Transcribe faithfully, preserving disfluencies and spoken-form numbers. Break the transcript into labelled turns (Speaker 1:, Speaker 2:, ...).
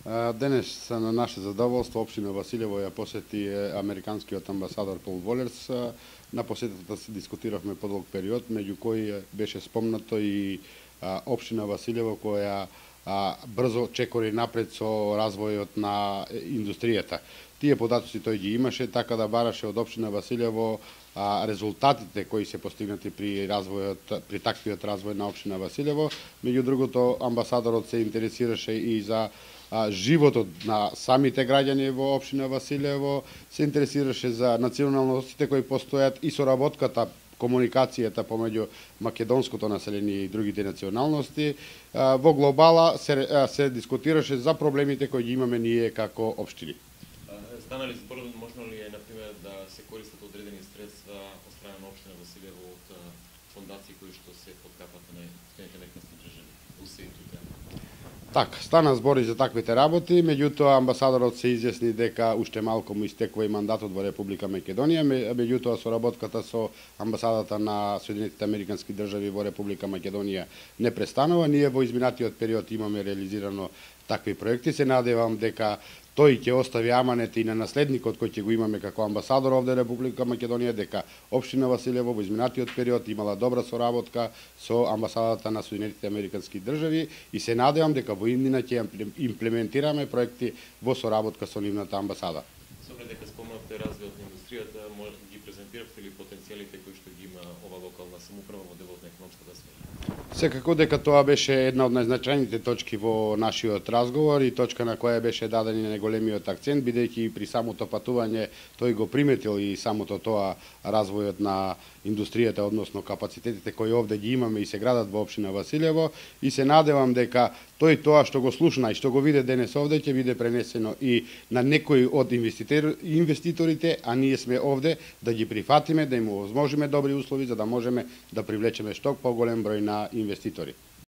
Speaker 1: Денес на наше задоволство општина Василево ја посети американскиот амбасадор Пол Волерс. На посетата се дискутиравме подолг период, меѓу кои беше спомнато и општина Василево која брзо чекори напред со развојот на индустријата. Тие податоци тој ги имаше, така да бараше од општина Василево резултатите кои се постигнати при развојот, при таквиот развој на општина Василево. Меѓу другото, амбасадорот се интересираше и за животот на самите граѓани во општина Василево, се интересираше за националностите кои постојат и соработката, комуникацијата помеѓу македонското население и другите националности. Во глобала се, се дискутираше за проблемите кои ги имаме ние како општини.
Speaker 2: Стана ли збор, можно ли е, например, да се користат одредени средства од страна на општина Василево од фондации кои што се под капата на Соединетите американски држави, у СЕИТ-ите?
Speaker 1: Так, стана збор и за таквите работи, меѓутоа амбасадорот се изјасни дека уште малку му истекува и мандатот во Република Македонија, меѓутоа соработката со амбасадата на Соединетите американски држави во Република Македонија не престанува. Ние во изминатиот период имаме реализирано такви проекти. Се надевам дека тој ќе остави аманет и на наследникот кој ќе го имаме како амбасадор овде Република Македонија, дека општина Василево во изминатиот период имала добра соработка со амбасадата на Соединетите американски држави и се надевам дека во иднина ќе имплементираме проекти во соработка со нивната амбасада.
Speaker 2: Со оглед дека спомнавте развојот на индустријата, може ги презентиравте ли потенцијалите кои што ги има ова локална самоуправа во делот на економската сфера?
Speaker 1: Секако дека тоа беше една од најзначајните точки во нашиот разговор и точка на која беше даден и најголемиот акцент, бидејќи при самото патување тој го приметил и самото тоа развојот на индустријата, односно капацитетите кои овде ги имаме и се градат во општина Василево, и се надевам дека тој тоа што го слушна и што го виде денес овде ќе биде пренесено и на некои од инвеститорите, а ние сме овде да ги прифатиме, да им овозможиме добри услови за да можеме да привлечеме што поголем број на инвеститори.